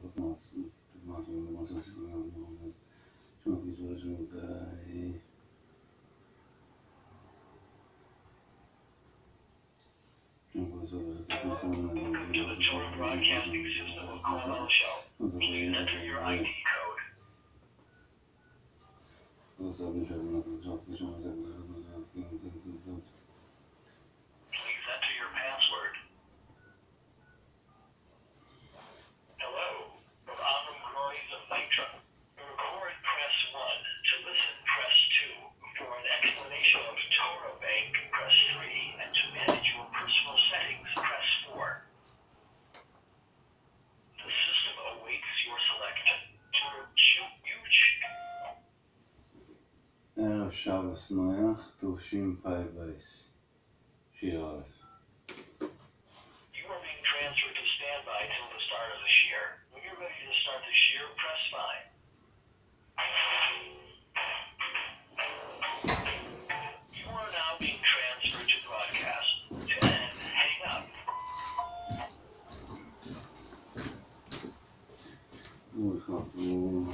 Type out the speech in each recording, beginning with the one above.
Welcome to the Torah Broadcasting System of Kol Shell. Please enter your ID code. Please enter your password. Hello, from Avram Groys of Nitra. To record, press 1. To listen, press 2. For an explanation of Torah Bank, press 3. And to manage your personal settings, press 4. The system awaits your selection. ערב שבת נח, תשפ"ב, שיעור א'. You are being transferred to standby till the start of the shiur. When you're ready to start the shiur, press 5. You are now being transferred to broadcast. To end, hang up. ברוך אתה ברוך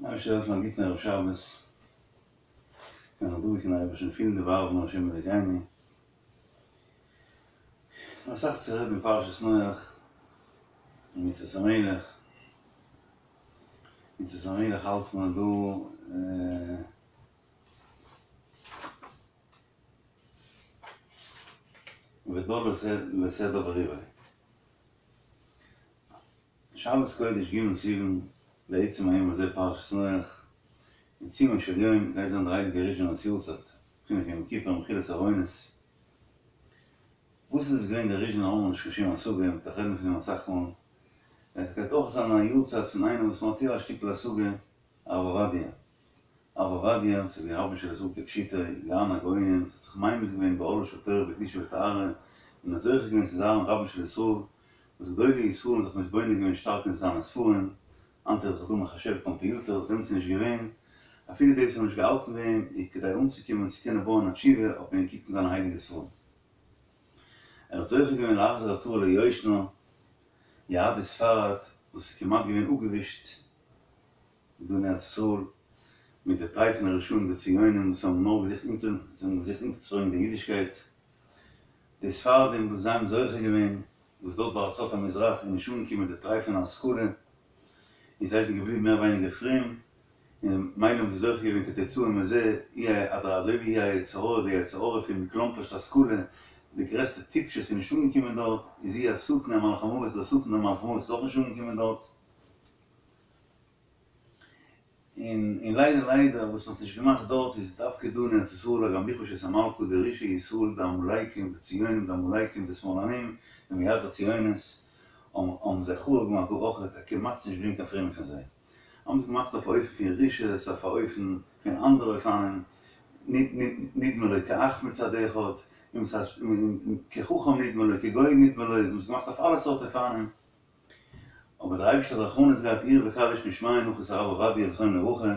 אתה אפשר להגיד נערב שבס, כן, נדעו כי נערב שנפיל דבר ונרשם ולגייני. מסך צרד מפרשס נויח, מצווה המלך. מצווה המלך אלט נדעו ודור לסדר בריבי. שבס קודש ג' סיבן בעצם היום הזה פרשס נויח, יצימה של יום, גייזן דרייד גריז'ן הסיורסת, חינוך יום כיפר, מחילס הרוינס. וואס איז געווען דער ריזשינער האבן נישט קיין שום השגה, מ'דארף רעדן פון אים אסאך מאל. עס גייט אויך זיין א יארצייט פון איינעם וואס מ'האט יא א שטיקל השגה, הרב עובדיה. הרב עובדיה, וואס איז געווען רבן של ישראל כפשוטו, גאון הגאונים, וואס האט זיך ממית געווען באהלה של תורה בקדושה וטהרה, און האט זוכה געווען צו זיין רבן של ישראל, וואס גדולי ישראל האבן זיך מתבונן געווען שטארק אין זיינע ספרים, היינט איז דאך דא מחשב קאמפיוטער, דעמאלטס איז נישט געווען, אפילו די וואס האבן נישט געהאלטן ביי אים, איז כדי אנצוקומען צו קענען בויען א תשובה האט מען געקוקט אין זיינע הייליגע ספרים. ער האט זוכה געווען להחזיר עטרה ליושנה, יהדות ספרד וואס איז כמעט געווען אפגעווישט דא אין ארץ ישראל מיט די טרייפענע רשעים די ציונים וואס האבן נאר געזוכט אונטער זיי האבן געזוכט אונטערצוברענגען די אידישקייט, די ספרדים וואס זיי האבן זוכה געווען וואס דארט בארצות המזרח איז נישט אנגעקומען די טרייפענע השכלה און זיי זענען געבליבן מער ווייניגער פרום און ממילא האבן זיי זוכה געווען כתוצאה מזה, אי אדער אזוי ווי היצר הרע, די יצר הרע פון מכלומפערשט השכלה, די גרעסטע טיפשות איז נישט אנגעקומען דארט, איז הוא השטן המלאך המוות, דער שטן דער מלאך המוות איז אויך נישט אנגעקומען דארט. און און ליידער ליידער וואס מ'האט נישט געמאכט דארט איז דווקא דא אין ארץ ישראל הגם לכבוש את המלכה די רשעי ישראל די עמלקים די ציונים די עמלקים די שמאלנים די מייסדי הציונות האבן האבן זיי חרוב געמאכט דא אויך כמעט ס'נישט געבליבן קיין פרומע פון זיי. האבן עס געמאכט אויף א אופן פון רשעות, אויף א אופן פון אנדערע אופנים, נדמה לו כאח מצד אחד, כחכם נדמה לו, כגאון נדמה לו, זיי האבן עס געמאכט אויף אלע סארט אופנים, אבער דער אייבערשטער האט רחמנות געהאט עיר וקדיש משמיא נאך איז הרב עובדיה זכרונו לברכה,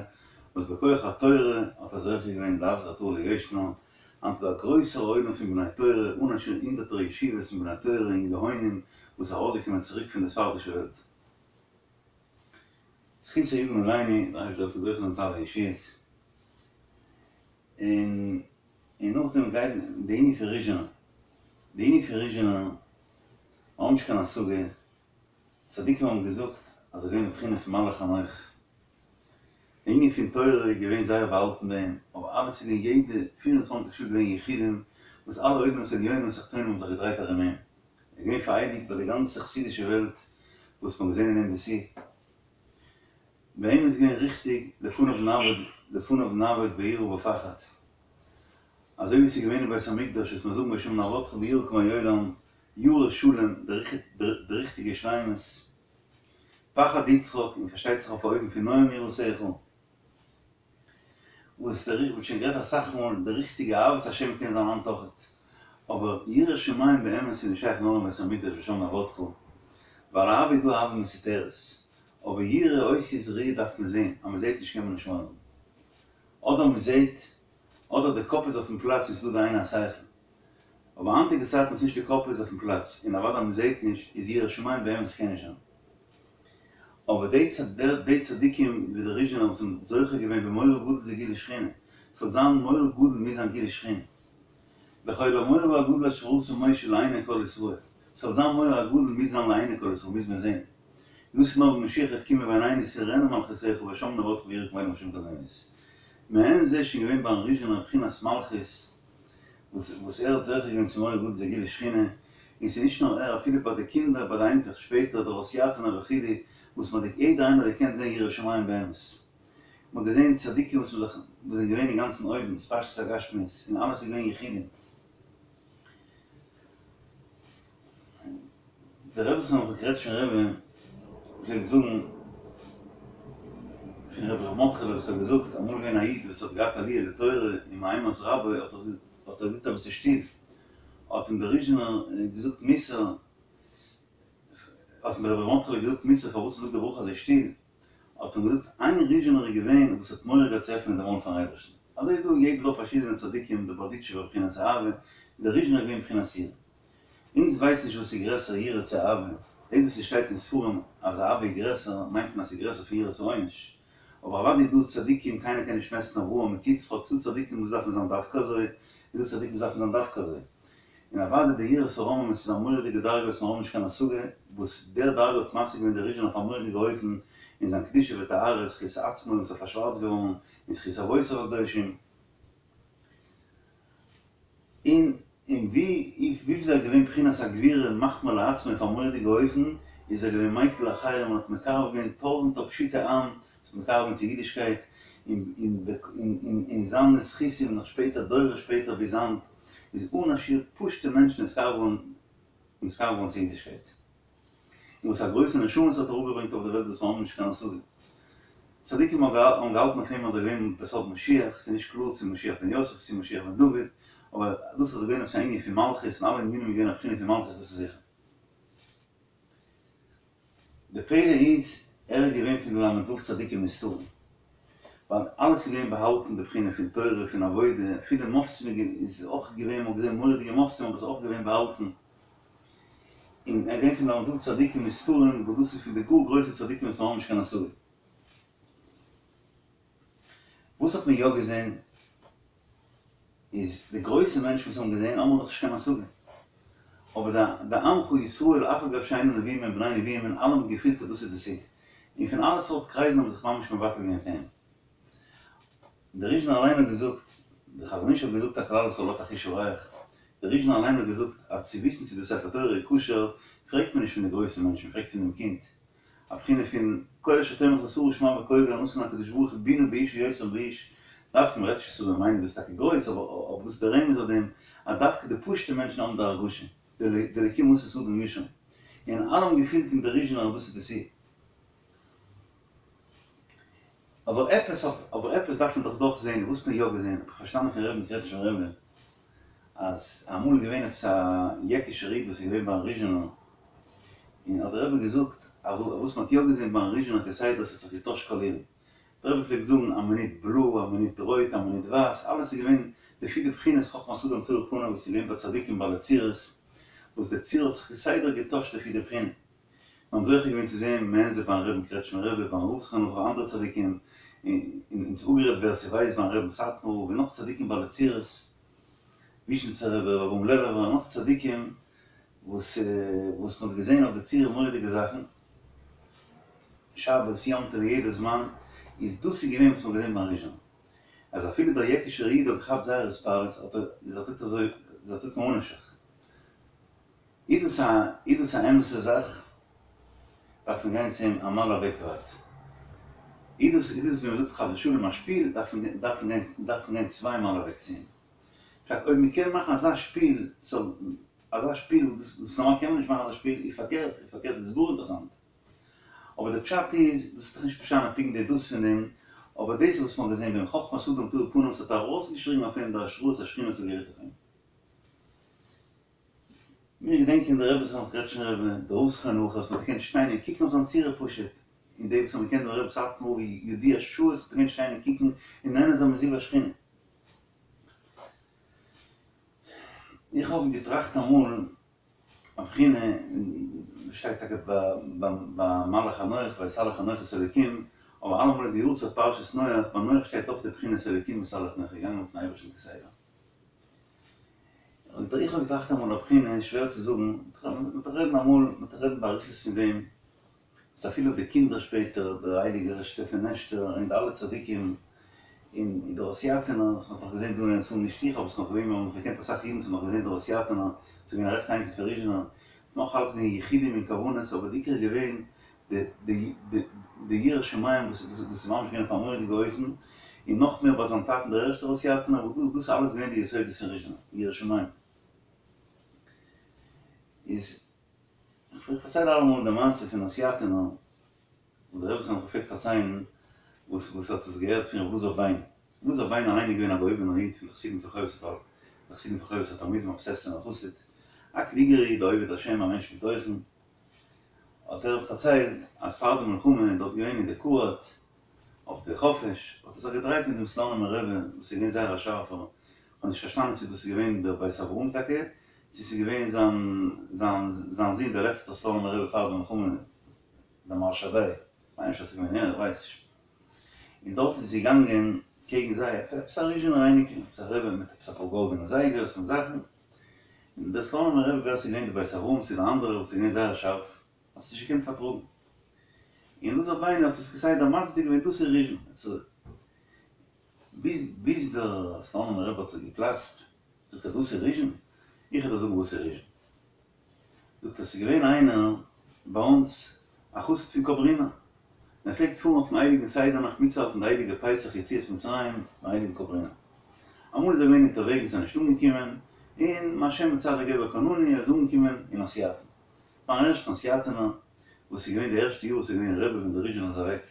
וואס בכח התורה האט ער זוכה געווען להחזיר עטרה ליושנה, היינט איז דא א גרויסער עולם פון בני תורה, אן א שיעור הונדערטער ישיבות פון בני תורה און גאונים וואס איז ארויסגעקומען צוריק פון די ספרדישע וועלט. זכותו יגן עלינו, דער אייבערשטער זאל זוכה זיין צו אלע ישועות, און און נאכדעם גייט די ענין פון ריזשינער, די ענין פון ריזשינער, מיר האבן נישט קיין השגה, צדיקים האבן געזאגט אז ער איז געווען די בחינה פון מלאך חנוך. די ענין פון תורה איז געווען זייער באהאלטן ביי אים, אבער אלעס איז געווען יעדע פיר און צוואנציג שעה געווען יחודים וואס אלע עולמות עליונים ותחתונים האבן זיך געדרייט ארום אים, ער איז געווען פאראייביגט ביי די גאנצע חסידישע וועלט וואס מ'האט געזען אין אים די שיא. ביי אים איז געווען ריכטיג לפניו נעבוד לפניו נעבוד ביראה ובפחד. אזוי ווי ס'איז געווען אין בית המקדש וואס מיר זאגן והשם נעבדך ביראה כימי עולם, ירא שלם, די ריכטיגע שלימות, פחד יצחק, און פארשטייט זיך אויף א אופן פון נועם יראתך, וואס דער מ'האט שוין גערעדט אסאך מאל, די ריכטיגע אהבת השם קען זיין היינט אויכעט, אבער יראת שמים באמת איז נישט שייך נאר אין בית המקדש ושם נעבדך, ווייל אהבה איז דא אהבה מסותרת, אבער יראה אותיות ראי' דארף מען זען, אז מ'זעט נישט קען מען נישט מורא האבן. אדער מ'זעט, אדער די קאפ איז אויפן פלאץ און ס'איז דא די עין השכל. אבער היינטיגע צייטן וואס נישט די קאפ איז אויפן פלאץ, און אוודאי מ'זעט נישט, איז יראת שמים באמת קען נישט זיין. אבער די די צדיקים ווי דער ריזשינער וואס האבן זוכה געווען במורא גדול זה גילוי שכינה, ס'זאל זיין מורא גדול מוז זיין גילוי שכינה. לכל המורא הגדול אשר עשה משה לעיני כל ישראל, ס'זאל זיין מורא הגדול מוז זיין לעיני כל ישראל מוז מען זען. דאס איז נאר ווען משיח וועט קומען ועינינו תראינה מלכותך ושם נעבדך ביראה כימי עולם השם קדמונית. מעין זה שוין געווען ביים ריזשינער בחינת מלכות וואס וואס ער האט זוכה געווען צו מורא גדול זה גילוי שכינה, און ס'איז נישט נאר ער אפילו ביי די קינדער ביי די אייניקלעך שפעטער דער הוסיאטינער וכו' וואס מ'האט יעדער איינער האט געקענט זען יראת שמים באמת. מ'האט געזען צדיקים וואס מ'זיך וואס זענען געווען אינגאנצן אויבן, התפשטות הגשמיות, און אלעס איז געווען יחודים. דער רבי זכרונו לברכה קרעטשניפער רבי פלעגט זאגן פון רבי ר' מרדכי'לע וואס האט געזאגט אמאל געווען א איד וואס האט געהאט עליה לתורה און מאימת רבו האט ער האט ער געזאגט אביסל שטיל האט אים דער ריזשינער געזאגט מוסר האט אים דער רבי ר' מרדכי'לע געזאגט מוסר פארוואס ער זאגט די ברכה אזוי שטיל האט אים געזאגט איין ריזשינער איז געווען וואס האט מורא געהאט צו עפענען די מויל פארן אייבערשטן אזוי איז דא יעדע דור פארשידענע צדיקים דער בארדיטשובער בחינת אהבה און דער ריזשינער איז געווען בחינת יראה. אונז ווייסן נישט וואס איז גרעסער יראה צו אהבה, דאס וואס ס'שטייט אין ספרים אז אהבה איז גרעסער מיינט מען אז ס'איז גרעסער פון יראת העונש, אבער אוודאי איז דא צדיקים קיינער קען נישט מעסטן אברהם מיט יצחק, ס'דא צדיקים וואס דארפן זיין דווקא אזוי, און דא צדיקים וואס דארפן זיין דווקא אזוי, און אוודאי די יראת הרוממות איז א מורא'דיגע דרגה וואס מיר האבן נישט קיין השגה, וואס דער דרגה האט משיג געווען דער ריזשינער אויף א מורא'דיגע אופן אין זיין קדושה וטהרה, זכות עצמו וואס איז פארשווארצט געווארן, און זכות אבותיו הקדושים. און און ווי וויפיל ער איז געווען בחינת הגבורה מחמיר לעצמו אויף א מורא'דיגע אופן, איז ער געווען מיקל לאחרים און האט מקרב געווען טויזענטער פשוטי עם, זיך מקרב געווען צו אידישקייט, און און און און זיינע זכותים נאך שפעטער דורות שפעטער ביז היינט, איז אן א שיעור פשוטע מענטשן נתקרב געווארן נתקרב געווארן צו אידישקייט. און וואס א גרויסע נשמות האט אראפגעברענגט אויף די וועלט וואס מיר האבן נישט קיין השגה. צדיקים האבן געהאלטן אויף אים אז ער איז געווען בסוד משיח, ס'איז נישט קלאר צו משיח בן יוסף צו משיח בן דוד, אבער דאס אז עס איז געווען עפעס א ענין פון מלכות און אלע ענינים איז געווען א בחינה פון מלכות דאס איז זיכער. די פלא איז ער איז געווען פון די ל"ו צדיקים נסתרים, ווייל אלעס איז געווען באהאלטן די בחינה פון תורה פון עבודה, אפילו מופתים איז אויך געווען, מ'האט געזען מורא'דיגע מופתים אבער עס איז אויך געווען באהאלטן. און ער איז געווען פון די ל"ו צדיקים נסתרים וואס דאס איז פון די גאר גרויסע צדיקים וואס מיר האבן נישט קיין השגה. וואס האט מען יא געזען איז די גרויסע מענטשן וואס האבן געזען האבן מיר דאך נישט קיין השגה. אבער די די עמך ישראל אף על גב שאינם נביאים הם בני נביאים און אלע האבן געפילט אז דאס איז די סיבה. און פון אלע סארט קרייזן האבן זיך ממש מבטל געווען פון אים. דער ריזשינער אליין האט געזאגט, דער חזון איש האט געזאגט אז כלל ישראל האט א חוש הריח, דער ריזשינער אליין האט געזאגט אז צו וויסן צו די ספר תורה איז כשר פרעגט מען נישט פון די גרויסע מענטשן, מען פרעגט פון דעם קינד, א בחינה פון כל אשר תאמר לך שרה שמע בקול נתן הקדוש ברוך הוא בינה באיש יותר מאיש, דווקא מען רעדט נישט צו מיינען דאס איז טאקע גרויס, אבער דאס איז דער רמז אויף דעם אז דווקא די פשוטע מענטשן האבן די הרגשה, די אלקים עשה אדם ישר, און אלע האבן געפילט אין דער ריזשינער אז דאס איז די סיבה. אבער עפעס אבער עפעס דארף מען דאך דאך זעהן, וואס האט מען יא געזעהן? האב איך פארשטאנען פון רבי'ן קרעטשניפער רבי אז אמאל איז געווען עפעס א יעקישער איד וואס איז געווען ביים ריזשינער, און האט דער רבי געזאגט אז וואס מען האט יא געזעהן ביים ריזשינער כסדר ס'האט זיך געטוישט קאלירן, דער רבי פלעגט זאגן א מינוט בלוי א מינוט רויט א מינוט ווייס, אלעס איז געווען לפי די בחינת חכמת אדם תאיר פניו וואס איז געווען ביי צדיקים בעלי צורות, וואס די צורה האט זיך כסדר געטוישט לפי די בחינה. מיר האבן זוכה געווען צו זען מעין זה ביים רבין קרעטשמער רבי, ביים רב זכרונו לברכה אנדערע צדיקים, און אונז אפגערעדט ווער ס'ווייסט ביים רבין סאטמאר רב און נאך צדיקים בעלי צורות, וויזשניצער רבי, רבי אברהם לעלובער און נאך צדיקים וואס וואס מ'האט געזען אויף די צורה מורא'דיגע זאכן, שבת, יום טוב, יעדע זמן, איז דאס איז געווען וואס מ'האט געזען ביים ריזשינער, אז אפילו דער יעקישער איד האט געכאפט זייער התפעלות, האט ער איז ער טוט אזוי, איז ער טוט ממה נפשך. איז דאס א איז דאס א אמת'ע זאך? דארף מען גיין צו אים א מייל אוועק ווייט. איז דאס איז דאס ווי מ'זאגט חס ושלום א שפיל, דארף מען דארף מען גיין דארף מען גיין צוויי מייל אוועק צו אים. פשט אויב מ'קען מאכן אזא שפיל סאו אזא שפיל וואס דאס נארמאל קען מען נישט מאכן אזא שפיל איז פארקערט איז פארקערט איז גאר אינטערעסאנט. אבער די פשט איז דאס איז דאך נישט משנה פונקט די דאס פון דעם אבער דאס איז וואס מ'האט געזען ביים חכמת אדם תאיר פנים ס'האט ארויסגעשריגן אויף אים די השראת השכינה וואס האט גערוהט אויף אים. מיר געדענקען די רבי זכרונו קרעטשניפער רבי, דער רב זכרונו לברכה וואס מ'האט געקענט שטיין און קוקן אויף זיין צורה פשוט, און די וואס האבן געקענט דעם רבי סאטמאר ווי ידוע שעות האט מען געקענט שטיין און קוקן און נהנה זיין מזיו השכינה. איך האב געטראכט אמאל א בחינה, שטייט טאקע ביי מלאך חנוך ויתהלך חנוך את האלקים, אבער אלעמאל איז די יארצייט פרשת נח, ביי נח שטייט אויך די בחינת אלקים התהלך נח, געגאנגען מיטן אייבערשטן כסדר. איך האב געטראכט אמאל א בחינה, שווער צו זאגן, מ'וועט רעדן אמאל, מ'וועט רעדן באריכות פון דעם, וואס אפילו די קינדער שפעטער, דער הייליגער שטעפינעשטער און די אלע צדיקים, און דער הוסיאטינער, וואס מ'האט נאך געזען דא אין ארץ ישראל, נישט איך האב עס נאך געווען, מיר האבן נאך געקענט אסאך אידן וואס האבן נאך געזען דער הוסיאטינער, ס'איז געווען א רעכטע אייניקל פון ריזשינער, נאך אלץ געווען יחודים און כוונות, אבער די עיקר איז געווען די יראת שמים וואס איז ממש געווען אויף א מורא'דיגע אופן, און נאך מער ביי זיין טאטן דער ערשטער הוסיאטינער, וואס דאס איז אלעס געווען די יסודות פון ריזשינער, יראת שמים. איז, איך פארצייל אלעמאל די מעשה פון הוסיאטינער, וואס דער רבי זכרונו לברכה פלעגט פארציילן, וואס וואס האט עס געהערט פון ר' אלעזר ביין. ר' אלעזר ביין אליין איז געווען א געהויבענער איד פון די חסידים פון חובת הל, די חסידים פון חובת התלמידים, א באזעסענער חסיד, א קלוגער איד, א עובד השם, א מענטש מיט תוכן. האט ער פארציילט אז פאר די מלחמה איז דארט געווען אין די קורארט אויף די חופש, האט ער זיך געדרייט מיט דעם סלאנימער רבי וואס איז געווען זייער א שארפער, כ'האב נישט פארשטאנען צו דאס איז געווען דער בית אברהם טאקע, צו ס'איז געווען זיין זיין זיין זון דער לעצטער סלאנימער רבי פאר די מלחמה, דער מהרש"ב, כ'מיין נישט אז ס'איז געווען ער, איך ווייס נישט. און דארט איז געגאנגען קעגן זיי עפעס א ריזשינער אייניקל, עפעס א רבי מיט עפעס אפאר גאלדענע זייגערס מיט זאכן, און דער סלאנימער רבי ווער ס'איז געווען די בית אברהם צו די אנדערע וואס איז געווען זייער שארף, האט עס נישט געקענט פארטראגן. און אלעזר ביין האט עס כסדר מצדיק געווען דאס איז ריזשין. ביז ביז דער סלאנימער רבי האט געפלאצט, זאגט ער דאס איז ריזשין? איך וועל דיר זאגן וואס איז ריזשין. זאגט ער ס'איז געווען איינער ביי אונז א חסיד פון קאברינער, און ער פלעגט פארן אויפן הייליגן סדר נאכט מיטצוהאלטן די הייליגע פסח יציאת מצרים ביים הייליגן קאברינער. אמאל איז ער געווען אונטערוועגנס איז ער נישט אנגעקומען, און מהשם בצדיק גבר כוננו ער איז אנגעקומען אין הוסיאטין. ביים ערשטן הוסיאטינער, וואס איז געווען די ערשטע יאר וואס איז געווען רבי ווען דער ריזשינער איז אוועק.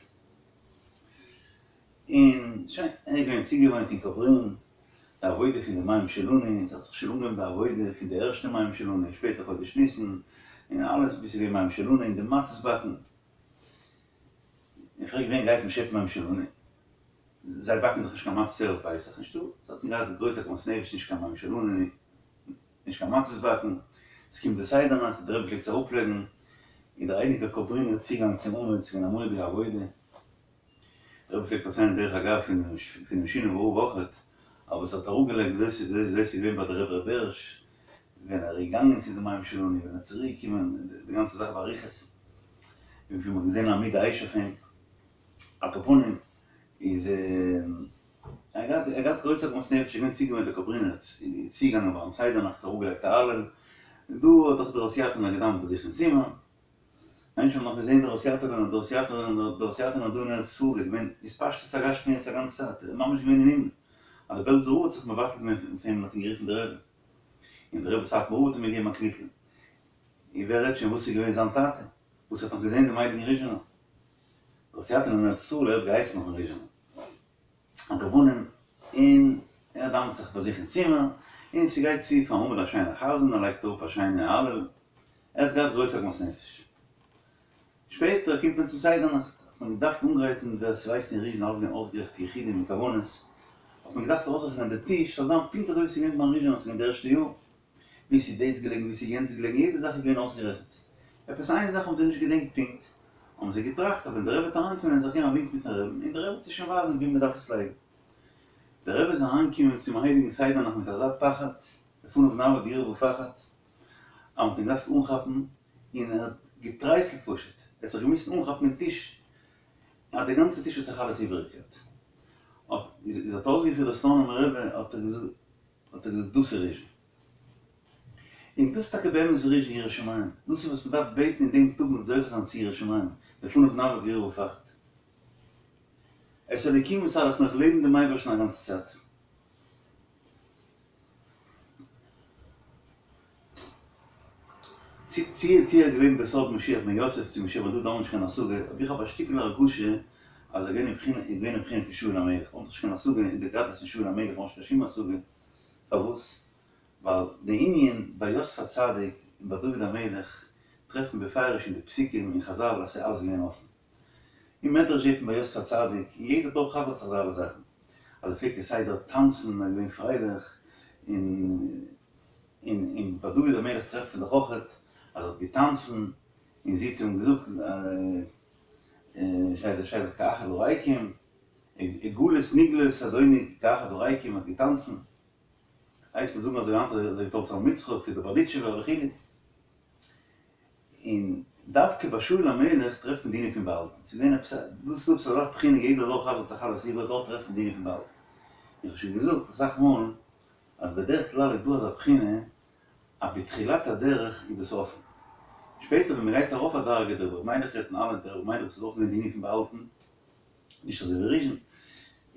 און שוין, ער איז געווען צוגעוואוינט אין קאברין, די עבודה פון די מים שלנו, ס'האט זיך שוין אנגעהויבן די עבודה פון די ערשטע מים שלנו, און שפעטער חודש ניסן, און אלעס ביז ס'איז געווען מים שלנו און די מצות באקן. און פרעגט ווען גייט מען שעפן מים שלנו? זיי באקן דאך נישט קיין מצות ערב פסח, נישטא, זיי האבן געהאט גרויס עגמת נפש נישט קיין מים שלנו, נישט קיין מצות באקן, ס'קומט די סדר נאכט, דער רבי פלעגט עס אראפלייגן, און דער הייליגער קאברינער צוגאנג צום עמוד, ס'איז געווען א מורא'דיגע עבודה. דער רבי פלעגט פארציילן דרך אגב פונעם שינאווער רב אויכעט, אבער וואס ער האט אראפגעלייגט וויאזוי ס'איז געווען ביי די רבי ר' בעריש ווען ער איז געגאנגען צו די מים שלנו ווען ער איז צוריק געקומען, די גאנצע זאך באריכות, און ווי מ'האט געזען עמוד האש אויף אים, על כל פנים איז ער געהאט ער געהאט גרויס עגמת נפש, איז געווען צוגעוואוינט די קאברינער איז צוגעגאנגען ביים סדר נאכט אראפגעלייגט א הלל, און דא האט דאך דער הוסיאטינער געדאווענט ביי זיך אין צימער. מענטשן האבן נאך געזען דער הוסיאטינער דער הוסיאטינער דער הוסיאטינער דא אין ארץ ישראל איז געווען התפשטות הגשמיות א גאנצע צייט, ער איז ממש געווען אין הימל, אז דער בעלזער רב האט זיך מבטל געווען פון אים און האט אים גערופן דער רבי, און דער רבי סאטמאר רב האט אים געגעבן א קוויטל, און ווער רעדט שוין וואס איז געווען זיין טאטע וואס האט נאך געזען דעם הייליגן ריזשינער, דער הוסיאטינער אין ארץ ישראל ער האט געהייסן נאכן ריזשינער. על כל פנים, און ער דאווענט זיך ביי זיך אין צימער, און ס'גייט צו פארן עמוד א שיינער חזן, ער לייגט אראפ א שיינע הלל, ער האט געהאט גרויס עגמת נפש. שפעטער קומט מען צום סדר נאכט, האט מען געדארפט אנגרייטן, ווער ס'ווייסט אין ריזשין אלס געווען אויסגערעכנט יחודים און כוונות, האט מען געדארפט אויסרעכענען די טיש זאל זיין פונקט אזוי ווי ס'איז געווען ביים ריזשינער, ס'איז געווען די ערשטע יאר, ווי ס'איז דאס געלעגן ווי ס'איז יענץ געלעגן, יעדע זאך איז געווען אויסגערעכנט. עפעס איין זאך האבן זיי נישט געדענקט פונקט, האבן זיי געטראכט אז ווען דער רבי וועט אריינקומען וועלן זיי געבן א ווינק מיטן רבי'ן און דער רבי וועט זיי שוין ווייזן ווי מען דארף עס לייגן. דער רבי איז אריינגעקומען צום הייליגן סדר נאכט מיט אזא פחד, לפניו נעמוד ביראה ופחד, אז מען האט אים געדארפט אנכאפן, און ער האט געטרייסלט פשוט, ער האט זיך געמוזט אנכאפן אין טיש. אז די גאנצע טיש האט זיך אלעס איבערגעקערט. האט איז האט אויסגעפירט דער סלאנימער רבי האט ער געזאגט האט ער געזאגט דאס איז ריזשין. און דאס איז טאקע באמת ריזשין יראת שמים. דאס איז וואס מען דארף בעטן אין דעם טאג מ'זאל זוכה זיין צו יראת שמים, לפניו נעבוד ביראה ופחד. את האלוקים התהלך נח לעבן דעם אייבערשטן א גאנצע צייט. צי צי צי ער איז געווען בסוד משיח בן יוסף צו משיח בן דוד האבן מיר נישט קיין השגה, אבער איך האב א שטיקל הרגשה אז ער איז געווען אין בחינה איז געווען אין בחינה פון שאול המלך, מ'האט נישט קיין השגה אין די גדלות פון שאול המלך, מ'האט נישט קיין שום השגה, פארוואס? ווייל די ענין ביי יוסף הצדיק און ביי דוד המלך טרעפט מען בפירוש אין די פסוקים און חזל אז ס'איז אלעס געווען אפן. אין מדרש זעט מען ביי יוסף הצדיק, און יעדער דור חזר'ט זיך די אלע זאכן, אז ער פלעגט כסדר טאנצן, ער איז געווען פרייליך, און און און ביי דוד המלך טרעפט מען דאך אויכעט אז ער האט געטאנצן, און זי האט אים געזאגט שטייט שטייט דאך כאחד הריקים, עגלות נגלות אדוני כאחד הריקים האט געטאנצן, הייסט מען זאגן אזוי היינט אזוי ווי תולדות אברהם יצחק צו די בארדיטשובער וכו'. און דווקא ביי שאול המלך טרעפט מען די ענין פון באהאלטן, ס'איז געווען עפעס א, דאס איז עפעס אזא בחינה יעדער דור חזר'ט זיך אלעס איבער, דארט טרעפט מען די ענין פון באהאלטן. איך האב שוין געזאגט אסאך מאל אז בדרך כלל איז דא אזא בחינה אז בתחילת הדרך איז דאס אפן, שפעטער ווען מ'גייט ארויף א דרגה דער רבי ר' מיילעך רעדט אין אלע דער רבי ר' מיילעך איז אויך געווען די ענין פון באהאלטן, נישט אזוי ווי ריזשין,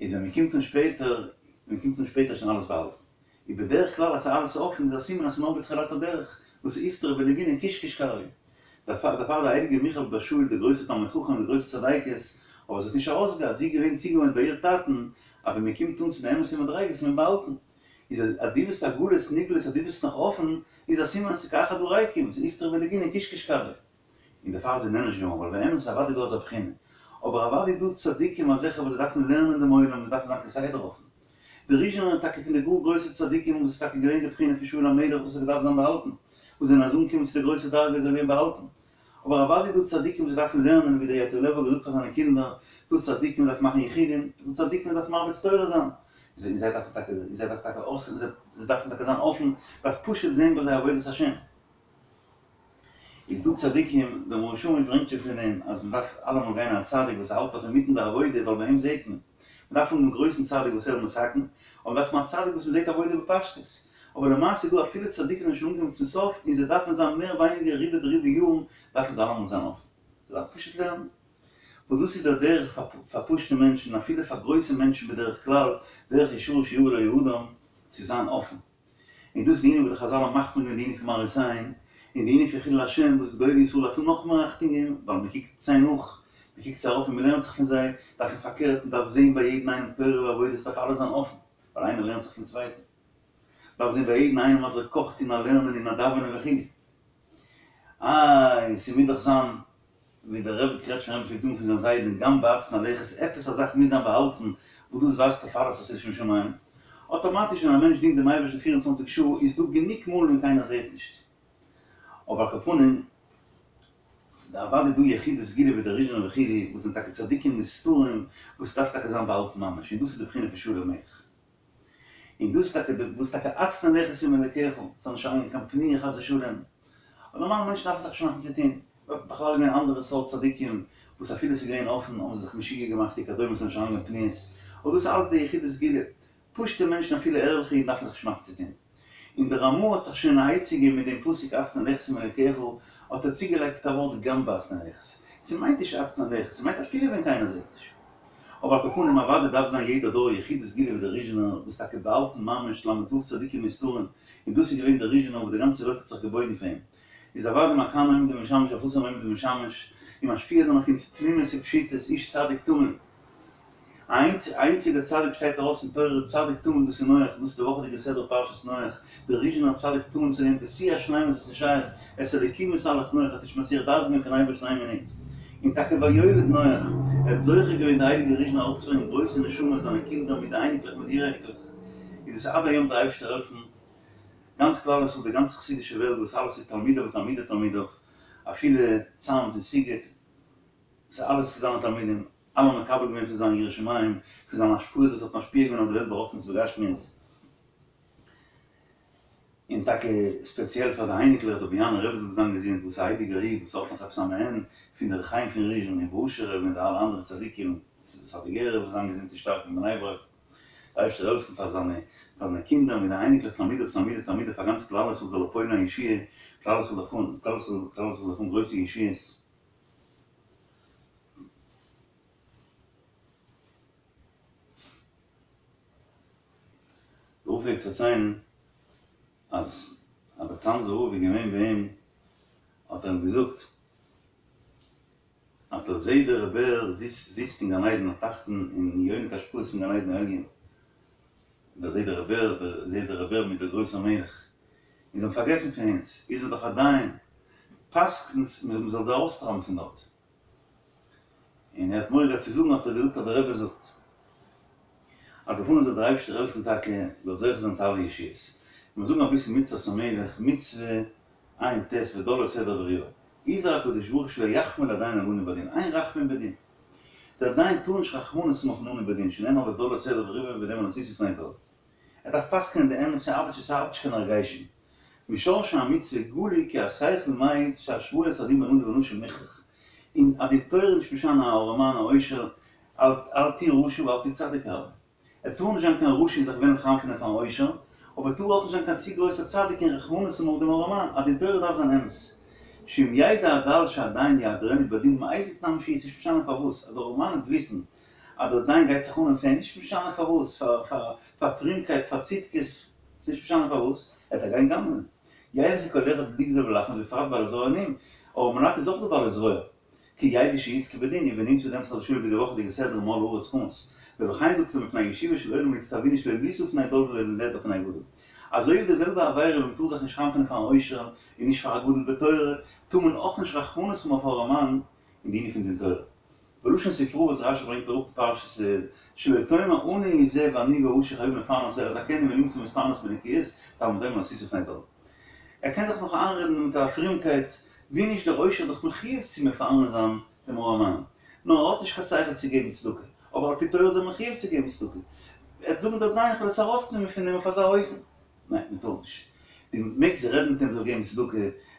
איז ווען מ'קומט אן שפעטער, ווען מ'קומט אן שפעטער איז שוין אלעס באהאלטן. איז בדרך כלל אז ס'איז אלעס אפן איז א סימן אז ס'איז נאר בתחילת הדרך, וואס איז איסתרא בלגינא קיש קיש קריא. דערפאר דערפאר די הייליגע מיכל בת שאול די גרויסע תלמיד חכם די גרויסע צדיקת, אבער זי האט נישט ארויסגעהאט, זי איז געווען צוגעוואוינט ביי איר טאטן אז ווען מ'קומט אן צו די אמת'ע מדריגות איז מען באהאלטן. איז אז אז דו ביסט עגלות נגלות אז דו ביסט נאך אפן, איז א סימן אז ס'איז כאחד הריקים, ס'איז איסתרא בלגינא קיש קיש קריא. און דערפאר איז זי נענש געווארן, ווייל באמת איז אוודאי דא אזא בחינה, אבער אוודאי דא צדיקים אזעלכע וואס זיי דארפן לערנען דעם עולם, זיי דארפן זיין כסדר אפן. די ריזשינער זענען טאקע פון די גאר גרויסע צדיקים וואס איז טאקע געווען די בחינה פון שאול המלך וואס האט געדארפט זיין באהאלטן, וואס זענען אז אנגעקומען צו די גרויסע דרגה איז ער געווען באהאלטן. אבער אוודאי דא צדיקים וואס דארפן לערנען ווי דער ייטב לב האט געזאגט פאר זיינע קינדער, דא צדיקים וואס דארפן מאכן יחודים, דא צדיקים וואס דארפן מרביץ תורה זיין, און זיי דארפן טאקע, זיי דארפן טאקע אויס, זיי דארפן טאקע זיין אפן, דארף פשוט זען ביי זיי עבודת השם. איז דא צדיקים, דער מאור שמש ברענגט שוין פון דעם אז מען דארף אלעמאל גיין א צדיק וואס האלט נאך אינמיטן די עבודה ווייל ביי אים זעט מען, מען דארף האבן דעם גרויסן צדיק וואס ער איז מתקן, אבער דארף מען א צדיק וואס מען זעט עבודה בפשטות, אבער למעשה איז דא אפילו צדיקים זענען שוין אנגעקומען צום סוף און זיי דארפן זיין מער ווייניגער רובא דרובא יארן דארפן זיי אלעמאל זיין אפן, זיי דארפן פשוט לערנען. וואס דאס איז דער דרך פאר פשוטע מענטשן אפילו פאר גרויסע מענטשן בדרך כלל, דרך ישרה שיבא לו האדם, צו זיין אפן. און דאס איז די ענין וואס די חזל האבן מחמיר געווען די ענין פון מראית עין, און די ענין פון חילול השם וואס גדולי ישראל דארפן נאך מער אכטונג געבן, ווייל מען קוקט זיי נאך, מען קוקט זיי ארויף און מען לערנט זיך פון זיי, דארף מען פארקערט, מען דארף זען ביי יעדן איינעם תורה ועבודה, עס דארף אלעס זיין אפן, ווייל איינער לערנט זיך פון צווייטן. מען דארף זען ביי יעדן איינעם אז ער קאכט אין א לערנען און א דאווענען וכו'. איי, ס'מוז דאך זיין ווי דער רבי קרעטשמער רבי פלעגט זאגן פון זיין זיידן גם בהצנע לכת, עפעס א זאך מוז זיין באהאלטן וואס דאס ווייזט אויף אלעס אז ס'איז לשם שמים. אטאמאטיש ווען א מענטש דינט דעם אייבערשטן 24 שעה איז דא גענוג מאל ווען קיינער זעט נישט. אבער על כל פנים, אוודאי דא יחידי סגולה ווי דער ריזשינער וכו' וואס זענען טאקע צדיקים נסתרים וואס ס'דארף טאקע זיין באהאלטן ממש, און דאס איז די בחינה פון שאול המלך. און דאס איז טאקע די וואס טאקע הצנע לכת עם אלקיך, ס'זאל נישט אריינגיין קיין פניה חס ושלום, אבער נארמאלע מענטשן דארפן זיך נישט מאכן צו טון, בכלל געווען אנדערע סארט צדיקים וואס אפילו ס'איז געווען אפן האבן זיי זיך משוגע געמאכט וכדומה ס'זאל נישט אריינגיין פניות, אבער דאס איז אלץ די יחידי סגולה, פשוטע מענטשן אפילו ערליכע אידן דארפן זיך נישט מאכן צו טון. און דער רמ"א האט זיך שוין א עצה געגעבן מיט דעם פסוק הצנע לכת עם אלקיך, האט ער צוגעלייגט א ווארט גם בהצנע לכת. ס'מיינט נישט הצנע לכת, ס'מיינט אפילו ווען קיינער זעט נישט. אבער על כל פנים אוודאי דארף זיין יעדער דור יחידי סגולה ווי דער ריזשינער וואס טאקע באהאלטן ממש ל"ו צדיקים נסתרים, און דאס איז געווען דער ריזשינער וואס די גאנצע וועלט האט זיך געבויגן פאר אים. איז אוודאי מכאן עומדים לשמש ואף אתם עומדים לשמש, און משפיע זיין אויף אונז תמימות ופשיטות, איש צדיק תמים. א איינציגער צדיק שטייט ארויס אין תורה צדיק תמים דאס איז נח, דאס איז די וואכעדיגע סדרה פרשת נח, דער ריזשינער צדיק תמים צו דעם בשיא השלימות וואס איז שייך, את האלקים התהלך נח האט נישט מסיח דעת געווען פון אייבערשטן איין מינוט. און טאקע ויולד נח, ער האט זוכה געווען די הייליגע ריזשינער אראפצוברענגען גרויסע נשמות זיינע קינדער מיט די אייניקלעך מיט די אור-אייניקלעך, איז דאס עד היום דער אייבערשטער העלפן גאנץ כלל ישראל די גאנצע חסידישע וועלט וואס אלעס איז תלמידיו ותלמידי תלמידיו אפילו צאנז און סיגוט ס'איז אלעס זיינע תלמידים אלע האבן מקבל געווען פון זיין יראת שמים, פון זיינע השפעות וואס האט משפיע געווען אויף די וועלט ברוחניות ובגשמיות. און טאקע ספעציעל פאר די אייניקלעך, דער באיאנער רבי זאל זיין געזונט, וואס איז א הייליגער איד, וואס האט נאך עפעס א מעין פון דער ר' חיים פון ריזשין און באהושער רבי און די אלע אנדערע צדיקים, סאדיגערער רבי זאל זיין געזונט און שטארק אין בני ברק, דער אייבערשטער זאל העלפן פאר זיינע פאר זיינע קינדער מיט די אייניקלעך תלמידיו תלמידי תלמידיו פאר גאנץ כלל ישראל זאל ער פועל'ן א ישועה, כלל ישראל דארף האבן כלל ישראל כלל ישראל דארף האבן גרויסע ישועות. דער רב פלעגט פארציילן אז אז דער צאנזער רב איז געווען ביי אים האט ער אים געזאגט אז דער זיידע ר' בער זיצט אין גן עדן התחתון און יונק השפעות פון גן עדן העליון, דער זיידע ר' בער, דער זיידע ר' בער מיט דער גרויסער מלך, און זיי האבן פארגעסן פון אונז, איר זענט דאך א דיין, פסק'נט מען זאל זיי ארויסטרייבן פון דארט. און ער האט מורא געהאט צו זאגן האט ער געזאגט אז דער רבי זאגט. על כל פנים זאל דער אייבערשטער העלפן טאקע זאל זוכה זיין צו אלע ישועות. מיר זאגן אביסל מצוות המלך, מצוה ע"ט ודל את עדרו וריבו. הזהיר הקדוש ברוך הוא שלא יחמול הדיין על עני בדין, אין רחמים בדין. דער דיין טאר נישט רחמנות האבן אויפן עני בדין, שנאמר ודל את עדרו וריבו ונאמר ועשית לפני דל. ער דארף פסק'נען די אמת, ס'ארבעט נישט ס'ארבעט נישט קיין הרגשים. משורשי המצוה גלוי כי השכל מעיד שהשואת הדין בין עני לבין עשיר מוכרח. און אז די תורה איז נישט משנה א ארעמאן א עושר, אל תהי רשע ואל תהי צדיק הרבה. ער טאר נישט זיין קיין רשע און זיך וועלן חנפ'ענען פארן עושר, אבער טאר אויך נישט זיין קיין צו גרויסער צדיק און רחמנות האבן אויף דעם ארעמאן, א דין תורה דארף זיין אמת. שאם ידע הדל שהדיין יעדרנו בדין מאיזה טעם שיהיה, ס'נישט משנה פארוואס, אז דער ארעמאן וועט וויסן אז דער דיין גייט זיך אננעמען פאר אים, נישט משנה פארוואס, פאר פרומקייט, פאר צדקות, ס'נישט משנה פארוואס, ער וועט גיין גנב'נען. ילכו כל אחד לגזול ולחמוס בפרט בעלי זרוע עניים, ארעמעלייט איז אויך דא בעלי זרוע. כי ידעו שיזכה בדין ונמצא דעם חס ושלום ווי די וואכעדיגע סדרה מלאה הארץ חמס. ולכן זאגט ער מפני ישיבה של עולם נצטווינו שלא לישא פני דל ולא לידע פני גדול. אזוי ווי די זעלבע עבירה ווי מ'טאר זיך נישט חנפ'ענען פארן עושר און נישט פאר א גדול בתורה, טאר מען אויך נישט רחמנות האבן אויף ארעמאן אין די ענין פון דין תורה. בלשון ספרא וואס רשי ברענגט אראפ אין פרשת שלא תאמר עני זה ואני העשיר חייבין לפרנסו אזכנו ונמצא מתפרנס בנקיות תלמוד לומר ועשית לפני דל. ער קען זיך נאך איינרעדן מיט א פרומקייט, ווי נישט דער עושר איז דאך מחויב צו מפרנס זיין דעם ארעמאן, נאר ער האט נישט קיין שכל צו געבן צדקה, אבער על פי תורה איז ער מחויב צו געבן צדקה. ער וועט זאגן דער דיין איך וועל עס ארויסנעמען פון אים אויף אזא אופן. ניין, מען טאר נישט. דו מעגסט רעדן מיט אים זאל געבן צדקה,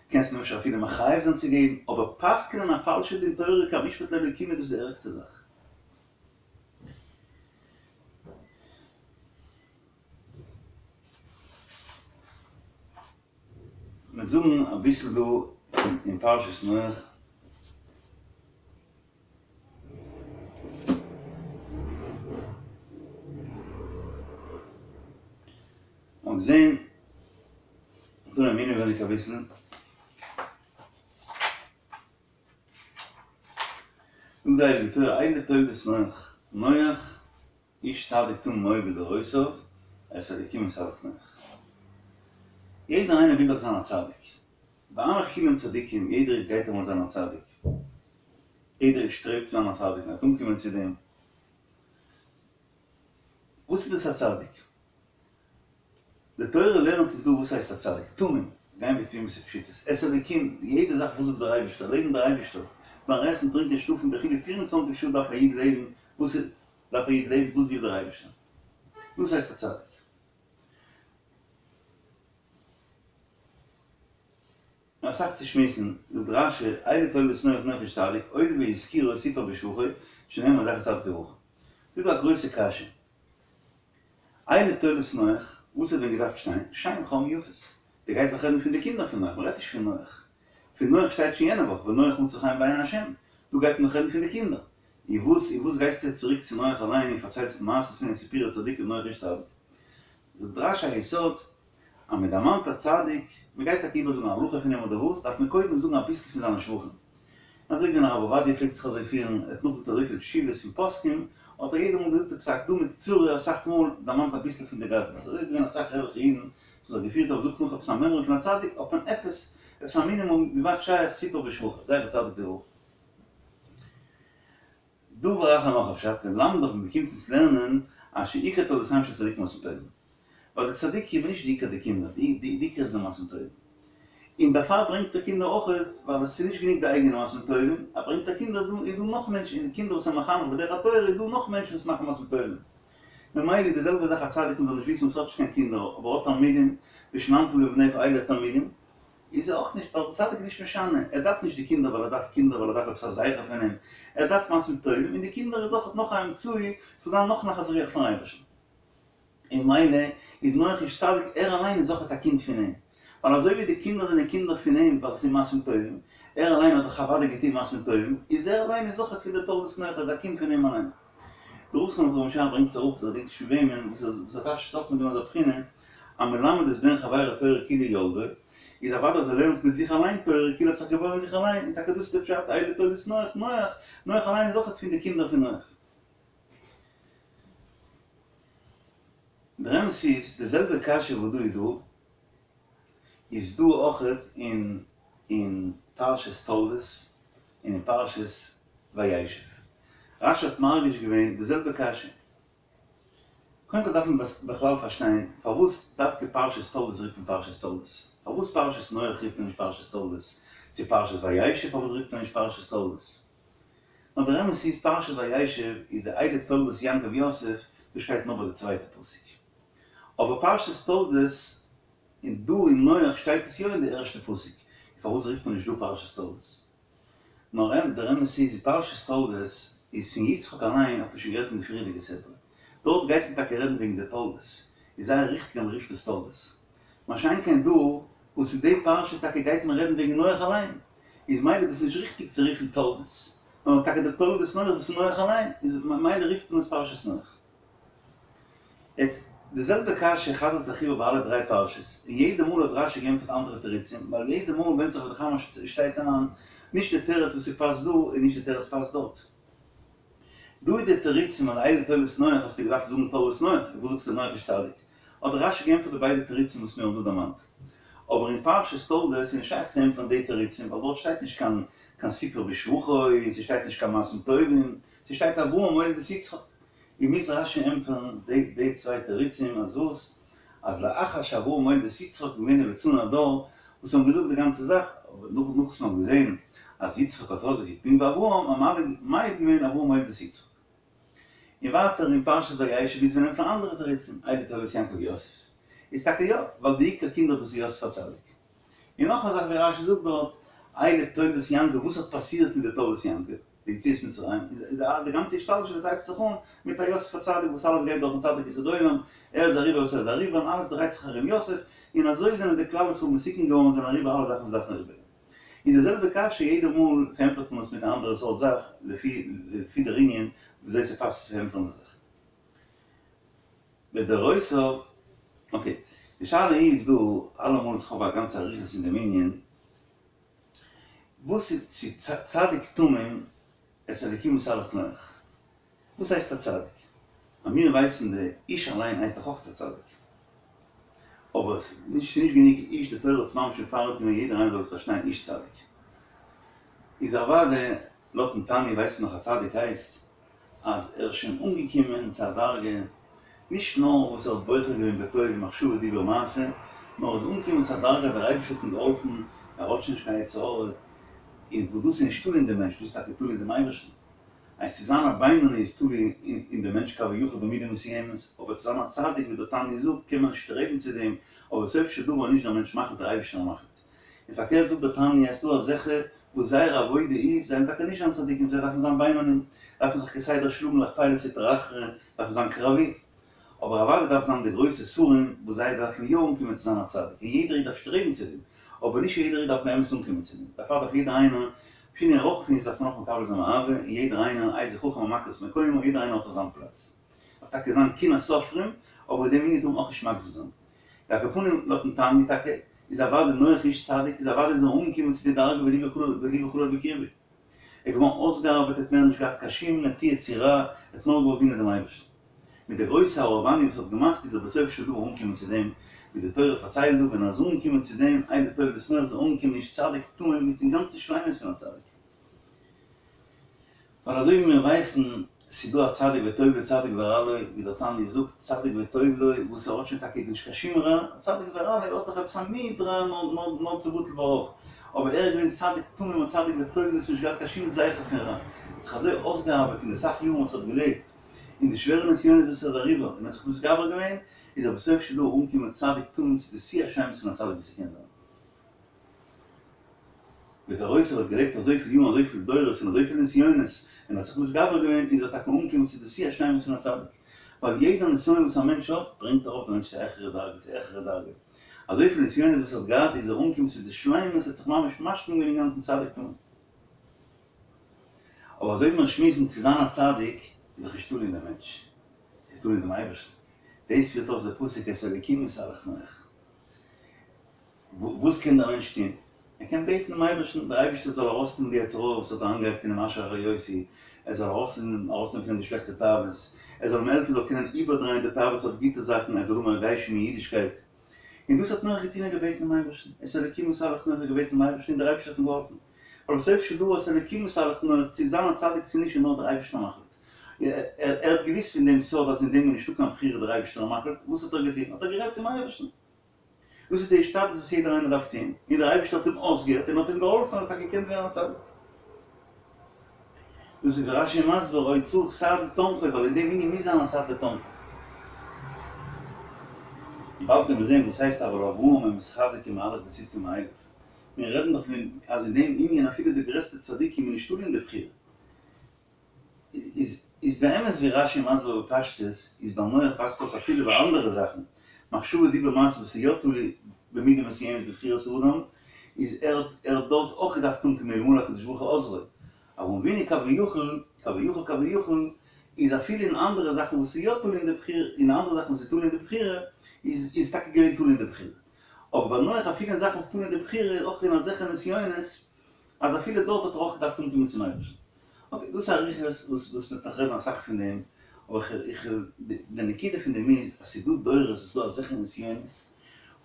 קענסט אים אפשר אפילו מחייב זיין צו געבן, אבער פסק'נען א פאלשע דין תורה כמשפט לאלוקים איז דאס די ערגסטע זאך. מיר זאגן אביסל דא אין פרשת נח. מ'האט געזען דא אין אינעווייניג אביסל. זאגט די הייליגע תורה אלה תולדות נח, נח איש צדיק תמים היה בדורותיו, את האלקים התהלך נח. יעדער איינער וויל דאך זיין א צדיק. ועמך כולם צדיקים, יעדער איד גייט אמאל זיין א צדיק. יעדער איד שטרעבט צו זיין א צדיק און וועט אנקומען צו דעם. וואס איז דאס א צדיק? די תורה לערנט אונז דא וואס הייסט א צדיק, תמים, גיין בתמימות ופשיטות, את האלקים, יעדע זאך וואס זאגט דער אייבערשטער, לעבן דער אייבערשטער, ביים עסן, טרינקען, שלאפן וכו', פיר און צוואנציג שעה דארף א איד לעבן, וואס איז, דארף א איד לעבן, וואס וויל דער אייבערשטער? דאס הייסט א צדיק. נאך אסאך צו שמועסן, זאגט רש"י, אלה תולדות נח נח איש צדיק, הואיל והזכירו סיפר בשבחו, שנאמר זכר צדיק לברכה. דא איז דא א גרויסע קשיא. אלה תולדות נח, וואס האט ווען געדארפט שטיין? שם חם יפת. דו גייסט דאך רעדן פון די קינדער פון נח, מ'רעדט נישט פון נח. פון נח שטייט שוין יענע וואך, ונח מצא חן בעיני השם. דא גייט מען דאך רעדן פון די קינדער. און וואס און וואס גייסטו יעצט צוריק צו נח אליין און פארציילסט מעשות פון אים סיפורי צדיקים נח איש צדיק. זאגט רש"י א יסוד, אז מען דערמאנט א צדיק, מען גייט טאקע איבערזאגן א הלכה פון אים אדער וואס, דארף מען קודם זאגן אביסל פון זיינע שבחים. אזוי געווען הרב עובדיה פלעגט זיך אזוי פירן, ער האט נאכגעזאגט אזויפיל תשובות פון פוסקים, האט ער יעדע מאל געזאגט עפעס א הקדמה קצרה, אסאך מאל דערמאנט אביסל פון די גדלות, אזוי איז געווען אסאך ערליכע אידן וואס האבן זיך געפירט אז מ'זאגט נאך עפעס א מימרא פון א צדיק, האט מען עפעס, עפעס א מינימום ווי ווייט שייך סיפר בשבחו, זכר צדיק לברכה. דבר אחר נאך א פשט, ללמדך מען קומט אונז לערנען אז שעיקר תולדותיהם של צדיקים מעשים טובים. ווייל די צדיקים איז נישט די עיקר די קינדער, די עיקר איז די מעשים טובים. און דערפאר ברענגט ער קינדער אויך, ווייל עס איז נישט גענוג די אייגענע מעשים טובים, ער ברענגט א קינדער, דא איז דא נאך מענטשן, און די קינדער וואס איז מחנך בדרך התורה איז דא נאך מענטשן וואס מאכן מעשים טובים. ממילא איז די זעלבע זאך א צדיק מ'זאל נישט וויסן וואס האט נישט קיין קינדער אבער האט תלמידים, ושננתם לבניך אלה תלמידים, איז ער אויך נישט, ווייל די צדיק איז נישט משנה, ער דארף נישט די קינדער ווייל ער דארף קינדער ווייל ער דארף עפעס א זכר פון אים, ער דארף מעשים טובים און די קינדער איז אויך נאך א אמצעי ס'זאל זיין נאך נחת רוח פון אייבערשטן. און ממילא איז נח איש צדיק ער אליין איז אויכעט א קינד פון אים, ווייל אזוי ווי די קינדער זענען קינדער פון אים ווייל עס איז מעשים טובים, ער אליין האט דאך אוודאי געטון מעשים טובים, איז ער אליין איז אויכעט פון די תולדות נח איז א קינד פון אים אליין. דער רב זכרונו לברכה ברענגט עס אראפ, כ'דענק נישט פון וועמען, וואס ער טייטשט עס אויך מיט דעם אזא בחינה, המלמד את בן חברו תורה כאילו ילדו, איז אוודאי אז ער לערנט מיט זיך אליין תורה כאילו ער האט זיך געבוירן זיך אליין, און טאקע דאס איז די פשט אלה תולדות נח, נח, נח אליין איז אויכעט פון די קינדער פון נח. דער אמת איז, די זעלבע קשיא וואס דא איז דא, איז דא אויכעט אין אין פרשת תולדות און אין פרשת וישב. רשי האט מרגיש געווען די זעלבע קשיא. קודם כל דארף מען בכלל פארשטיין פארוואס דווקא פרשת תולדות רופט מען פרשת תולדות? פארוואס פרשת נח רופט מען נישט פרשת תולדות? צו פרשת וישב פארוואס רופט מען נישט פרשת תולדות? נאר דער אמת איז פרשת וישב איז די אלה תולדות יעקב יוסף, דאס שטייט נאר ביי די צווייטע פסוק. אבער פרשת תולדות און דא אין נח שטייט עס יא אין די ערשטע פסוק, פארוואס רופט מען נישט דא פרשת תולדות? נאר דער אמת איז אין פרשת תולדות איז פון יצחק אליין האט מען שוין גערעדט אין די פריערדיגע סדרה, דארט גייט מען טאקע רעדן וועגן די תולדות, איז זייער ריכטיג אז מען רופט עס תולדות. מה שאין כן דא, וואס אין די פרשה טאקע גייט מען רעדן וועגן נח אליין, איז מילא דאס נישט ריכטיג צו רופן תולדות, נאר טאקע די תולדות נח דאס איז נח אליין, איז מילא רופט מען עס פרשת נח. יעצט, די זעלבע קשיא חזר'ט זיך איבער ביי אלע דריי פרשות, און יעדע מאל האט רשי געענטפערט אנדערע תירוצים, ווייל יעדע מאל ווענדט זיך ווי די חמש שטייט איין, נישט די תירוץ וואס ס'פאסט דא און נישט די תירוץ פאסט דארט. דא איז די תירוצים אז אלה תולדות נח האסטו געדארפט זאגן תולדות נח, און וואס זאגסטו נח איש צדיק? האט רשי געענטפערט די ביידע תירוצים וואס מיר האבן דא דערמאנט. אבער אין פרשת תולדות איז נישט שייך צו ענטפערן די תירוצים ווייל דארט שטייט נישט קיין קיין סיפור בשבחו, ס'שטייט נישט קיין מעשים טובים, ס'שטייט אברהם הוליד את יצחק. און מוז רשי ענטפערן די די צוויי תירוצים אז וואס? אז לאחר שאברהם הוליד את יצחק געווען די ליצני הדור וואס האבן געזאגט די גאנצע זאך, אבער נאך נאך וואס מ'האט געזען אז יצחק האט חזק פונקט ווי אברהם האט מען מעיד געווען אברהם הוליד את יצחק. און ווייטער אין פרשת וישב מוז מען ענטפערן אנדערע תירוצים, אלה תולדות יעקב ויוסף איז טאקע יא, ווייל די עיקר קינדער דאס איז יוסף הצדיק. און נאך א זאך ווי רשי זאגט דארט, אלה תולדות יעקב וואס האט פאסירט מיט די תולדות יעקב? די יציאת מצרים איז די גאנצע השתלשלות הייבט זיך אן מיט א יוסף הצדיק וואס אלעס גייט דורכן צדיק יסוד עולם, ער איז אריבער וואס ער איז אריבער און אלעס דרייט זיך ארום יוסף, און אזוי זענען די כלל ישראל מתוקן געווארן זענען אריבער אלע זאכן וואס דארפן אריבער גיין. און די זעלבע קשיא יעדע מאל פארענטפערט מען עס מיט א אנדערע סארט זאך לפי לפי דער ענין וויאזוי ס'פאסט צו פארענטפערן די זאך. בדורותיו, אקעי, די שאלה איז דא אלעמאל איך האב א גאנצע אריכות אין דעם ענין, וואס איז צו צדיק תמים את האלקים התהלך נח? וואס הייסט א צדיק? אז מיר ווייסן די איש אליין הייסט דאך אויך א צדיק. אבער עס איז נישט גענוג איש די תורה האט עס ממש מפרט געווען יעדער איינער זאל עס פארשטיין איש צדיק איז אוודאי לויטן תניא ווייסט מען נאך א צדיק הייסט אז ער איז שוין אנגעקומען צו א דרגה, נישט נאר וואס ער האט בוחר געווען בטוב במחשבה דיבור מעשה, נאר ער איז אנגעקומען צו א דרגה אז דער אייבערשטער האט אים געהאלפן, ער האט שוין נישט קיין יצר הרע, און וואס דאס איז נישט תלוי אין דעם מענטש, דאס איז טאקע תלוי אין דעם אייבערשטן. אז צו זיין א בינוני איז תלוי אין דעם מענטש כביכול במידה מסוימת, אבער צו זיין א צדיק ווי דער תניא זאגט קען מען שטרעבן צו דעם, אבער סוף של דבר איז נישט דער מענטש מחליט דער אייבערשטער מחליט. און פארקערט זאגט דער תניא אז ס'דא אזעלכע וואס זייער עבודה איז, זיי זענען טאקע נישט זיין צדיקים, זיי דארפן זיין בינונים, דארפן זיך כסדר שלאגן להכפלת סטרא אחרא, דארפן זיין קרבי. אבער אוודאי דארף זיין די גרויסע שרים וואס זיי דארפן יא אנקומען צו זיין א צדיק, און יעדער איד דארף שטרעבן צו דעם, אבער נישט יעדער איד דארף באמת אנקומען צו דעם, דערפאר דארף יעדער איינער, בחינה רוחנית דארף מען אויך מקבל זיין מאהבה, און יעדער איינער, איזהו חכם המכיר את מקומו, יעדער איינער האט זיך זיין פלאץ. דארף טאקע זיין קנאת סופרים, אבער אין דעם ענין טאר מען אויך נישט מגזים זיין. על כל פנים לויטן תניא טאקע איז אוודאי נח איש צדיק איז אוודאי איז ער אנגעקומען צו די דרגה ולבו חלל ולבו חלל בקרבו. ער איז געווארן אויסגעארבעט ער האט מער נישט געהאט קיין שום נטיה צו רע ער האט נאר געוואלט דינען דעם אייבערשטן. מיט די גרויסע הארעוואניע וואס ער האט געמאכט איז ער בסופו של דבר אנגעקומען צו דעם ווי די תורה פארציילט דא ווען ער איז אנגעקומען צו דעם אלה תולדות נח איז ער אנגעקומען איש צדיק תמים מיטן גאנצן שלימות פון א צדיק. ווייל אזוי ווי מיר ווייסן, ס'איז דא א צדיק וטוב לו צדיק ורע לו, ווי דער תניא זאגט, צדיק וטוב לו, וואס ער האט שוין טאקע נישט קיין שום רע, א צדיק ורע לו האט דאך עפעס א מיעוט רע נאר נאר צו בטל ברוב, אבער ער איז געווען צדיק תמים א צדיק וטוב לו, נישט געהאט קיין שום זכר פון רע, ער האט זיך אזוי אויסגעארבעט אין די סאך יארן וואס ער האט געלעבט. און די שווערע נסיונות וואס ער איז אריבער און האט זיך מתגבר געווען, איז ער בסוף של דבר אנגעקומען צדיק תמים צו די שיא השלימות פון א צדיק וואס ס'קען זיין. בדורותיו האט געלעבט אזויפיל יארן אזויפיל דורות און אזויפיל נסיונות און האט זיך מתגבר געווען איז ער טאקע אנגעקומען צו די שיא השלימות פון א צדיק. ווייל יעדע נסיון וואס א מענטש האט ברענגט ארויף די מענטש צו א העכערע דרגה צו העכערע דרגה. אזויפיל נסיונות וואס ער האט געהאט איז ער אנגעקומען צו די שלימות ער האט זיך ממש משלים געווען אינגאנצן צדיק תמים. אבער אזוי ווי מיר שמועסן צו זיין א צדיק איז דאך נישט תלוי אין די מענטש, ס'איז תלוי אין דעם אייבערשטן. דאס פירט אויס דער פסוק את האלוקים התהלך נח. וואס קען דער מענטש טון? ער קען בעטן דעם אייבערשטן דער אייבערשטער זאל ארויסנעמען די יצר הרע וואס האט אריינגעלייגט אין אים אשר הרעותי, ער זאל ארויסנעמען פון אים די שלעכטע תאוות, ער זאל אים העלפן זאל קענען איבערדרייען די תאוות אויף גוטע זאכן, ער זאל האבן הרגשים אין אידישקייט. און דאס האט נח געטון, ער האט געבעטן דעם אייבערשטן, את האלוקים התהלך נח, ער האט געבעטן דעם אייבערשטן און דער אייבערשטער האט אים געהאלפן. ווייל בסוף של דבר את האלוקים התהלך נח, צו זיין א צדיק צו נישט איז נאר דער אייבערשטער מחליט. ער האט געוואוסט פון דעם סוד אז אין דעם איז נישטא קיין בחירה דער אייבערשטער איז מחליט, וואס האט ער געטון? האט ער גערעדט צום אייבערשטן. דאס איז די השתדלות וואס יעדער איינער דארף טון, און דער אייבערשטער האט אים אויסגעהערט און האט אים געהאלפן ער האט טאקע געקענט ווערן א צדיק. דאס איז ווי רש"י מסביר היה צריך סעד לתומכו ווייל אין דעם ענין מוז זיין א סעד לתומכו. און באלד וועלן מיר זען וואס הייסט אבל אברהם היה מתחזק ומהלך בצדקו מאליו. מיר רעדן דאך פון אז אין דעם ענין אפילו די גרעסטע צדיקים איז נישט תלוי אין די בחירה. איז איז באמת ווי רש"י מסביר בפשטות איז ביי נח פאסט אויס אפילו ביי אנדערע זאכן, מחשבה דיבור מעשה וואס איז יא תלוי במידה מסוימת בבחירת האדם, איז ער האט ער האט דארט אויך געדארפט אנקומען אלמלא הקדוש ברוך הוא עוזרו. אברהם אבינו כביכול, כביכול כביכול, איז אפילו אין אנדערע זאכן וואס איז יא תלוי אין די בחירה, אין אנדערע זאכן וואס איז תלוי אין די בחירה, איז איז טאקע געווען תלוי אין די בחירה. אבער ביי נח אפילו אין זאכן וואס תלוי אין די בחירה איז אויך געווען אזעלכע נסיונות אז אפילו דארט האט ער אויך געדארפט אנקומען צום אייבערשטן. אקעי, דאס איז אריכות וואס וואס מ'וועט נאך רעדן אסאך פון דעם, אבער איך איך די נקודה פון דעם איז אז ס'איז דא דורות וואס איז דא אזעלכע נסיונות,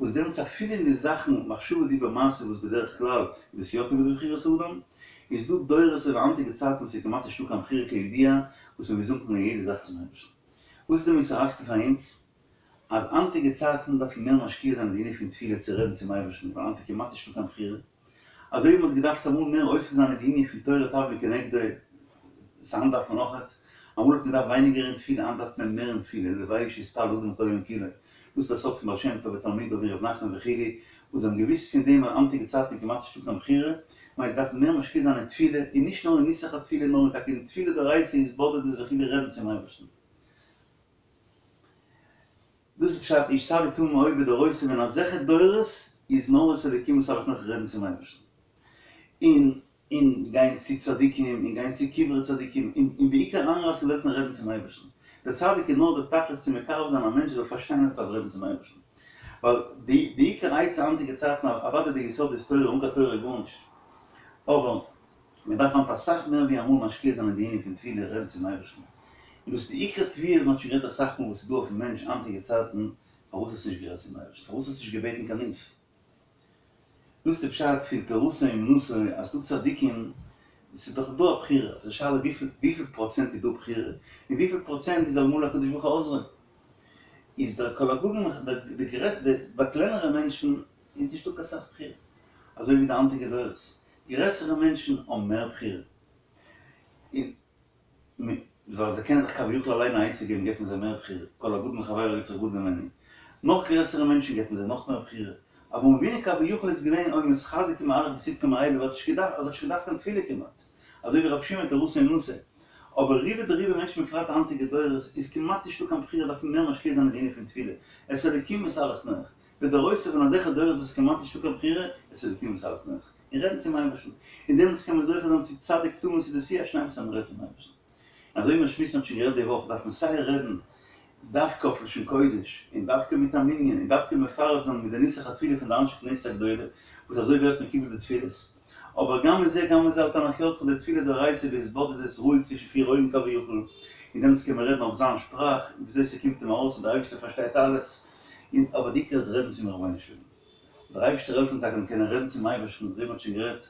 וואס דעמאלטס אפילו אין די זאכן מחשבה דיבור מעשה וואס בדרך כלל איז דאס יא תלוי בבחירת האדם, איז דא דורות אויף היינטיגע צייטן וואס איז כמעט נישטא קיין בחירה כידוע, וואס מ'מוז אנקומען אין יעדע זאך צום אייבערשטן. וואס איז די מוסר השכל פאר אונז? אז היינטיגע צייטן דארף מען מער משקיע זיין אין די ענין פון תפילה צו רעדן צום אייבערשטן, ווייל היינט איז כמעט נישטא קיין בחירה. אזוי ווי מען האט געדארפט אמאל מער עוסק זיין אין די ענין פון תורה תבלין כנגדו, סא היינט דארף מען אויכעט, אמאל האט מען געדארפט ווייניגער אין תפילה, היינט דארף מען מער אין תפילה, לוואי שיתפלל אדם כל היום כולו, דאס איז דער סוד פון בעל שם טוב ותלמידיו און ר' נחמן וכו', וואס זיי האבן געוואוסט פון דעם אז היינטיגע צייטן איז כמעט נישטא קיין בחירה, ממילא דארף מען מער משקיע זיין אין תפילה, און נישט נאר אין נוסח התפילה נאר טאקע אין תפילה דאורייתא התבודדות וכו' רעדן צום אייבערשטן. דאס איז פשט איש צדיק תמים היה בדורותיו אין אזעלכע דורות איז נאר את האלקים התהלך נח רעדן צום אייבערשטן און און גיין צו צדיקים און גיין צו קברי צדיקים און און בעיקר אריינרייסן וועלטן רעדן צום אייבערשטן דער צדיק איז נאר דער תכלית צו מקרב זיין א מענטש זאל פארשטיין אז ער דארף רעדן צום אייבערשטן ווייל די די עיקר עצה היינטיגע צייטן אוודאי די יסוד איז תורה אן קיין תורה גארנישט אבער מען דארף היינט אסאך מער ווי אמאל משקיע זיין אין די ענין פון תפילה רעדן צום אייבערשטן, און דאס איז די עיקר תביעה וואס מען האט שוין גערעדט אסאך מאל וואס איז דא אויפן מענטש היינטיגע צייטן, פארוואס האסטו נישט גערעדט צום אייבערשטן? פארוואס האסטו נישט געבעטן קיין הילף? דאס איז די פשט פון תורתו אומנותו אז ס'דא צדיקים, ס'איז דאך דא א בחירה, די שאלה וויפיל וויפיל פראצענט איז דא בחירה, און וויפיל פראצענט איז אלמלא הקדוש ברוך הוא עוזרו, איז דער כל הגדול די די ביי קלענערע מענטשן איז נישטא קיין סך בחירה, אזוי ווי די היינטיגע דורות, גרעסערע מענטשן האבן מער בחירה, און ווייל זיי קענען זיך כביכול אליין א עצה געבן געבט מען זיי מער בחירה, כל הגדול מחבירו יצרו גדול ממנו, נאך גרעסערע מענטשן געבט מען זיי נאך מער בחירה, אברהם אבינו כביכול איז געווען היה מתחזק ומהלך בצדקו מאליו, ער האט נישט געדארפט, ער האט נישט געדארפט קיין תפילה כמעט, אזוי ווי רבי שמעון תורתו אומנותו, אבער רובא דרובא מענטשן בפרט היינטיגע דורות איז כמעט נישטא קיין בחירה דארף מען מער משקיע זיין אין די ענין פון תפילה, את האלקים התהלך נח, בדורותיו אין אזעלכע דורות וואס כמעט נישטא קיין בחירה, את האלקים התהלך נח. און רעדן צום אייבערשטן, און דעמאלטס קען מען זוכה זיין צו צדיק תמים צו די שיא השלימות אז מען רעדט צום אייבערשטן. און אזוי ווי מיר שמועסן האט שוין גערעדט די וואך דארף מען סיי רעדן דווקא אויף לשון קודש, און דווקא מיט א מנין, און דווקא מפרט זיין מיט די נוסח התפילה פון די אנשי כנסת הגדולה, וואס אזוי ווערט מקובל די תפילות. אבער גם מזה גם מזה אל תנח ידך די תפילה דאורייתא בהתבודדות רואיג צווישן פיר אויגן כביכול, און דעמאלטס קען מען רעדן אויף זיין שפראך, וויאזוי ס'קומט אים ארויס און דער אייבערשטער פארשטייט אלעס, און אבער די עיקר איז רעדן צום רבונו של עולם. דער אייבערשטער העלפן טאקע מיר קענען רעדן צום אייבערשטן, אזוי ווי מ'האט שוין גערעדט,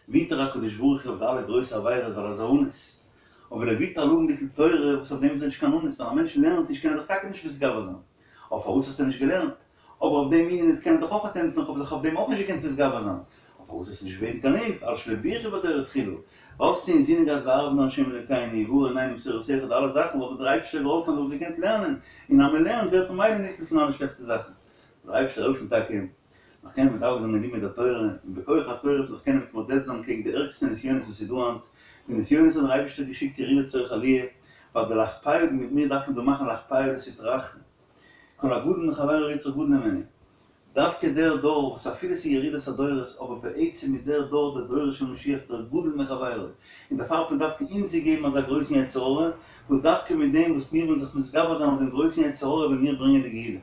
ויתר הקדוש ברוך הוא אויף די אלע גרויסע עבירות ווייל ער איז א אנוס, אבער לא ויתר על עוון ביטול תורה וואס אויף דעם איז ער נישט קיין אנוס, ווייל א מענטש לערנט נישט קען ער זיך טאקע נישט מתגבר זיין, אבער פארוואס האסטו נישט געלערנט? אבער אויף דעם ענין קען ער דאך אויך ענטפערן, כ'האב זיך אויף דעם אויך נישט געקענט מתגבר זיין. פארוואס האסטו נישט געבעטן קיין הילף? על שלא ברכו בתורה תחילה. וואלסטו אינזינען געהאט והרב נא השם אלוקינו והאר עינינו בתורתך די אלע זאכן וואלט דיר דער אייבערשטער געהאלפן אז דו וואלסט געקענט לערנען, און אז מען לערנט ווערט ממילא ניצול פון אלע שלעכטע זאכן. זאל דער אייבערשטער העלפן טאקע נאך קענען מדבק זיין אין לימוד התורה, און בכח התורה וועט מען זיך קענען מתמודד זיין קעגן די ערגסטע נסיונות וואס איז דא היינט, די נסיונות האט דער אייבערשטער געשיקט ירידה לצורך עליה, ווייל די להכפיה מיט מיר דארף מען דא מאכן להכפיה לסטרא אחרא, כל הגדול מחבירו יצרו גדול ממנו, דווקא דער דור וואס אפילו ס'איז ירידת הדורות אבער בעצם איז דער דור דער דורו של משיח דער גדול מחבירו, און דערפאר האט מען דווקא אונז געגעבן אזא גרויסן יצר הרע, וואס דווקא מיט דעם וואס מיר וועלן זיך מתגבר זיין אויף דעם גרויסן יצר הרע וועלן מיר ברענגען די גאולה.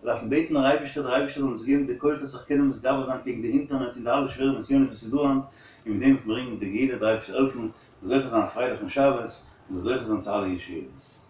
דארף מען בעטן דער אייבערשטער דער אייבערשטער זאל אונז געבן די כוחות זיך קענען מתגבר זיין קעגן די אינטערנעט און די אלע שווערע נסיונות וואס איז דא היינט, און מיט דעם וועט מען ברענגען די גאולה, דער אייבערשטער העלפן, זאל זוכה זיין א פרייליכן שבת, און זאל זוכה זיין צו אלע ישועות.